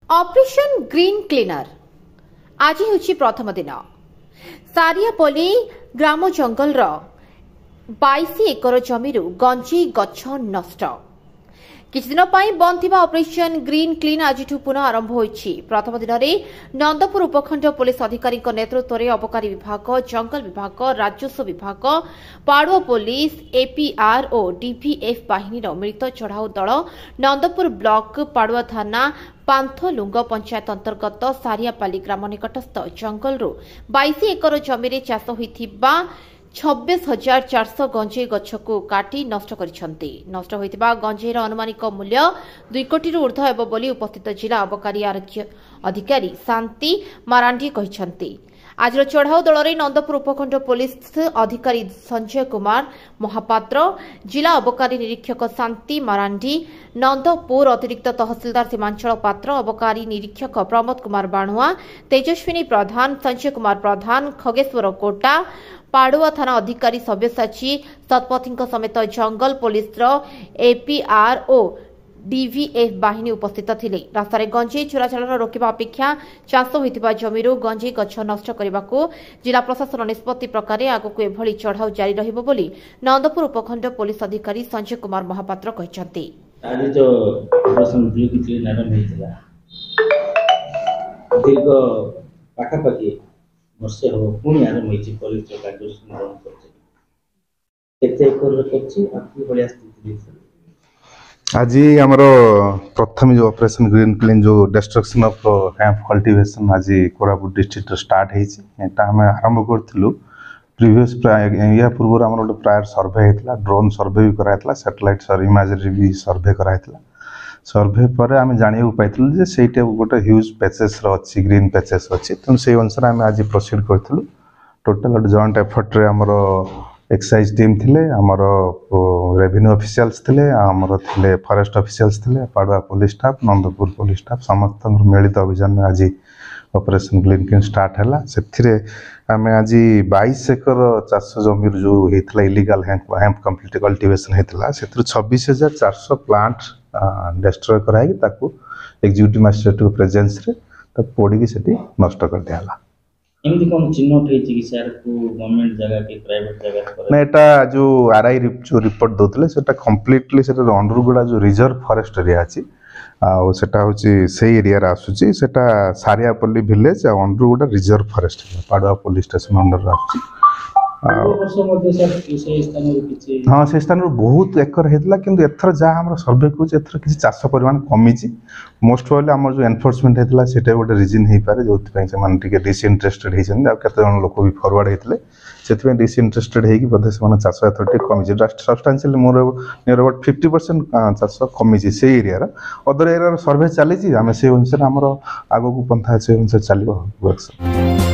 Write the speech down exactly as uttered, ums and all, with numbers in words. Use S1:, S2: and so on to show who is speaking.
S1: Operation green cleaner ଆଜି ହେଉଛି ପ୍ରଥମ ଦିନ। ସାରିଆପଲ୍ଲୀ ଗ୍ରାମ ଜଙ୍ଗଲର ବାଇଶ ଏକର ଜମିରୁ ଗଞ୍ଜେଇ ଗଛ ନଷ୍ଟ। କିଛିଦିନ ପାଇଁ ବନ୍ଦ ଥିବା ଅପରେସନ ଗ୍ରୀନ୍ କ୍ଲିନ୍ ଆଜିଠୁ ପୁନଃ ଆରମ୍ଭ ହୋଇଛି। ପ୍ରଥମ ଦିନରେ ନନ୍ଦପୁର ଉପଖଣ୍ଡ ପୋଲିସ ଅଧିକାରୀଙ୍କ ନେତୃତ୍ୱରେ ଅବକାରୀ ବିଭାଗ, ଜଙ୍ଗଲ ବିଭାଗ, ରାଜସ୍ୱ ବିଭାଗ, ପାଡୁଆ ପୋଲିସ, ଏପିଆର୍ ଓ ଡିଭିଏଫ୍ ବାହିନୀର ମିଳିତ ଚଢ଼ାଉ ଦଳ ନନ୍ଦପୁର ବ୍ଲକ ପାଡୁଆ ଥାନା ପାନ୍ଥଲୁଙ୍ଗ ପଞ୍ଚାୟତ ଅନ୍ତର୍ଗତ ସାରିଆପାଲି ଗ୍ରାମ ନିକଟସ୍ଥ ଜଙ୍ଗଲରୁ ବାଇଶ ଏକର ଜମିରେ ଚାଷ ହୋଇଥିବା ଛବିଶ ହଜାର ଚାରିଶହ ଗଞ୍ଜେଇ ଗଛକୁ କାଟି ନଷ୍ଟ କରିଛନ୍ତି। ନଷ୍ଟ ହୋଇଥିବା ଗଞ୍ଜେଇର ଆନୁମାନିକ ମୂଲ୍ୟ ଦୁଇ କୋଟିରୁ ଉର୍ଦ୍ଧ୍ୱ ହେବ ବୋଲି ଉପସ୍ଥିତ ଜିଲ୍ଲା ଅବକାରୀ ଅଧିକାରୀ ଶାନ୍ତି ମାରାଣ୍ଡି କହିଛନ୍ତି। ଆଜିର ଚଢ଼ାଉ ଦଳରେ ନନ୍ଦପୁର ଉପଖଣ୍ଡ ପୋଲିସ ଅଧିକାରୀ ସଞ୍ଜୟ କୁମାର ମହାପାତ୍ର, ଜିଲ୍ଲା ଅବକାରୀ ନିରୀକ୍ଷକ ଶାନ୍ତି ମାରାଣ୍ଡି, ନନ୍ଦପୁର ଅତିରିକ୍ତ ତହସିଲଦାର ସୀମାଞ୍ଚଳ ପାତ୍ର, ଅବକାରୀ ନିରୀକ୍ଷକ ପ୍ରମୋଦ କୁମାର ବାଣୁଆ, ତେଜସ୍ୱିନୀ ପ୍ରଧାନ, ସଞ୍ଜୟ କୁମାର ପ୍ରଧାନ, ଖଗେଶ୍ୱର କୋଟା, ପାଡୁଆ ଥାନା ଅଧିକାରୀ ସବ୍ୟସାଚୀ ଶତପଥୀଙ୍କ ସମେତ ଜଙ୍ଗଲ ପୋଲିସର ଏପିଆର୍ ଓ ଡିଭିଏଫ୍ ବାହିନୀ ଉପସ୍ଥିତ ଥିଲେ। ରାସ୍ତାରେ ଗଞ୍ଜେଇ ଚୋରାଚାଲାଣ ରୋକିବା ଅପେକ୍ଷା ଚାଷ ହୋଇଥିବା ଜମିରୁ ଗଞ୍ଜେଇ ଗଛ ନଷ୍ଟ କରିବାକୁ ଜିଲ୍ଲା ପ୍ରଶାସନ ନିଷ୍ପତ୍ତି ପ୍ରକାରେ ଆଗକୁ ଏଭଳି ଚଢ଼ାଉ ଜାରି ରହିବ ବୋଲି ନନ୍ଦପୁର ଉପଖଣ୍ଡ ପୋଲିସ ଅଧିକାରୀ ସଞ୍ଜୟ କୁମାର ମହାପାତ୍ର କହିଛନ୍ତି।
S2: ଆଜି ତ ଅପରେସନ ଗ୍ରୀନ୍ କ୍ଲିନ୍ ଆରମ୍ଭ ହେଇଥିଲା, ଦୀର୍ଘ ପାଖାପାଖି ବର୍ଷେ ହେବ ପୁଣି ଆରମ୍ଭ ହେଇଛି। ପୋଲିସର କାର୍ଯ୍ୟାନୁଷ୍ଠାନ ଗ୍ରହଣ କରିଛି, କେତେ ଏକରରେ କରିଛି ଆଉ କି ଭଳିଆ ସ୍ଥିତି ଦେଇଥିଲା?
S3: ଆଜି ଆମର ପ୍ରଥମେ ଯେଉଁ ଅପରେସନ୍ ଗ୍ରୀନ୍ କ୍ଲିନ୍, ଯେଉଁ ଡେଷ୍ଟ୍ରକ୍ସନ୍ ଅଫ୍ ହେମ୍ପ କଲ୍ଟିଭେସନ୍ ଆଜି କୋରାପୁଟ ଡିଷ୍ଟ୍ରିକ୍ଟରେ ଷ୍ଟାର୍ଟ ହେଇଛି। ଏଟା ଆମେ ଆରମ୍ଭ କରିଥିଲୁ ପ୍ରିଭିୟସ୍, ୟା ପୂର୍ବରୁ ଆମର ଗୋଟେ ପ୍ରାୟର ସର୍ଭେ ହେଇଥିଲା, ଡ୍ରୋନ୍ ସର୍ଭେ ବି କରାହେଇଥିଲା, ସାଟେଲାଇଟ୍ ଇମାଜେରୀ ବି ସର୍ଭେ କରାହେଇଥିଲା। ସର୍ଭେ ପରେ ଆମେ ଜାଣିବାକୁ ପାଇଥିଲୁ ଯେ ସେଇଟା ଗୋଟେ ହ୍ୟୁଜ୍ ପ୍ୟାଚେସ୍ର ଅଛି, ଗ୍ରୀନ୍ ପ୍ୟାଚେସ୍ ଅଛି। ତେଣୁ ସେଇ ଅନୁସାରେ ଆମେ ଆଜି ପ୍ରୋସିଡ଼ କରିଥିଲୁ। ଟୋଟାଲ୍ ଗୋଟେ ଜଏଣ୍ଟ ଏଫର୍ଟରେ ଆମର ଏକ୍ସାଇଜ୍ ଟିମ୍ ଥିଲେ, ଆମର ରେଭିନ୍ୟୁ ଅଫିସିଆଲ୍ସ ଥିଲେ, ଆମର ଥିଲେ ଫରେଷ୍ଟ ଅଫିସିଆଲ୍ସ ଥିଲେ, Padua police staff, Nandapur police staff, ସମସ୍ତଙ୍କର ମିଳିତ ଅଭିଯାନରେ ଆଜି ଅପରେସନ୍ ଗ୍ରୀନ୍ କ୍ଲିନ୍ ଷ୍ଟାର୍ଟ ହେଲା। ସେଥିରେ ଆମେ ଆଜି ବାଇଶ ଏକର ଚାଷ ଜମିରୁ ଯେଉଁ ହେଇଥିଲା ଇଲିଗାଲ ହେମ୍ପ କମ୍ପ୍ଲିଟ୍ କଲ୍ଟିଭେସନ୍ ହେଇଥିଲା, ସେଥିରୁ ଛବିଶ ହଜାର ଚାରିଶହ ପ୍ଲାଣ୍ଟ ଡେଷ୍ଟ୍ରୟ କରାହେଇକି ତାକୁ ଏକ୍ଜିକ୍ୟୁଟିଭ୍ ମାଜିଷ୍ଟ୍ରେଟଙ୍କ ପ୍ରେଜେନ୍ସରେ ତାକୁ ପୋଡ଼ିକି ସେଠି ନଷ୍ଟ କରିଦିଆହେଲା।
S2: ଏମିତି କ'ଣ ଚିହ୍ନଟ ହେଇଛି କି ସାର୍, କୋଉ ଗଭର୍ଣ୍ଣମେଣ୍ଟ ଜାଗା କି ପ୍ରାଇଭେଟ ଜାଗାରେ?
S3: ନା, ଏଟା ଯେଉଁ ଆର୍ I ଯେଉଁ ରିପୋର୍ଟ ଦେଉଥିଲେ, ସେଟା କମ୍ପ୍ଲିଟଲି ସେଟା ଅଣ୍ଡରଗୁଡ଼ା ଯେଉଁ ରିଜର୍ଭ ଫରେଷ୍ଟ ଏରିଆ ଅଛି, ଆଉ ସେଟା ହେଉଛି ସେଇ ଏରିଆରେ ଆସୁଛି। ସେଟା ସାରିଆପଲ୍ଲୀ ଭିଲେଜ ଆଉ Andarguda reserve forest area, Padua police station ଅଣ୍ଡରରେ ଆସୁଛି।
S2: ପୂର୍ବ ବର୍ଷ ମଧ୍ୟ ସାର୍ ସେଇ ସ୍ଥାନରୁ କିଛି?
S3: ହଁ, ସେ ସ୍ଥାନରୁ ବହୁତ ଏକର ହେଇଥିଲା, କିନ୍ତୁ ଏଥର ଯାହା ଆମର ସର୍ଭେ କହୁଛି, ଏଥର କିଛି ଚାଷ ପରିମାଣ କମିଛି। ମୋଷ୍ଟ ପ୍ରୋବାବଲି ଆମର ଯେଉଁ ଏନଫୋର୍ସମେଣ୍ଟ ହେଇଥିଲା, ସେଇଟା ଗୋଟେ ରିଜିନ୍ ହେଇପାରେ ଯେଉଁଥିପାଇଁ ସେମାନେ ଟିକେ ଡିସଇଣ୍ଟରେଷ୍ଟେଡ୍ ହେଇଛନ୍ତି। ଆଉ କେତେ ଜଣ ଲୋକ ବି ଫରୱାର୍ଡ଼ ହେଇଥିଲେ, ସେଥିପାଇଁ ଡିସଇଣ୍ଟରେଷ୍ଟେଡ୍ ହେଇକି ବୋଧେ ସେମାନେ ଚାଷ ଏଥର ଟିକେ କମିଛି। ସବଷ୍ଟାନ୍ସିଆଲି ମୋର ନିୟର ଆବାଉଟ୍ ଫିଫ୍ଟି ପରସେଣ୍ଟ ଚାଷ କମିଛି ସେଇ ଏରିଆର। ଅଦର ଏରିଆର ସର୍ଭେ ଚାଲିଛି, ଆମେ ସେଇ ଅନୁସାରେ ଆମର ଆଗକୁ ପନ୍ଥା ସେଇ ଅନୁସାରେ ଚାଲିବ ଆକ୍ସନ୍।